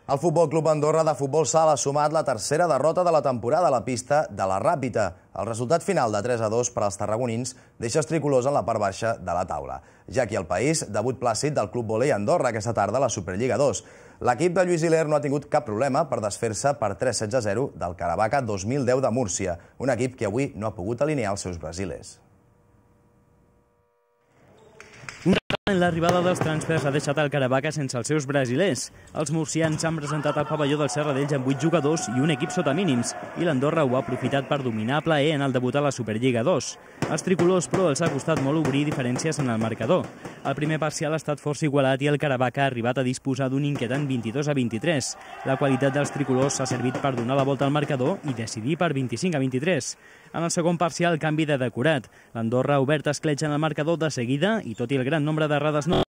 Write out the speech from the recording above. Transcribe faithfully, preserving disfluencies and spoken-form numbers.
El Futbol Club Andorra de futbol sala ha sumat la tercera derrota de la temporada a la pista de la Ràpita. El resultat final de tres a dos per als tarragonins deixa els tricolors en la part baixa de la taula. Ja aquí al País, debut plàcid del Club Volei Andorra aquesta tarda a la Superliga dos. L'equip de Lluís Hiler no ha tingut cap problema per desfer-se per tres setze a zero del Caravaca dos mil deu de Múrcia, un equip que avui no ha pogut alinear els seus brasilers. L'arribada dels transfers ha deixat el Caravaca sense els seus brasilers. Els murcians s'han presentat al pavelló del Serradell amb vuit jugadors i un equip sota mínims, i l'Andorra ho ha aprofitat per dominar a plaer en el debut a la Superliga dos. Als tricolors, però, els ha costat molt obrir diferències en el marcador. El primer parcial ha estat força igualat i el Caravaca ha arribat a disposar d'un inquietant vint-i-dos a vint-i-tres. La qualitat dels tricolors s'ha servit per donar la volta al marcador i decidir per vint-i-cinc a vint-i-tres. En el segon parcial, canvi de decorat. L'Andorra ha obert escletxa en el marcador de seguida i, tot i el gran nombre d'errades no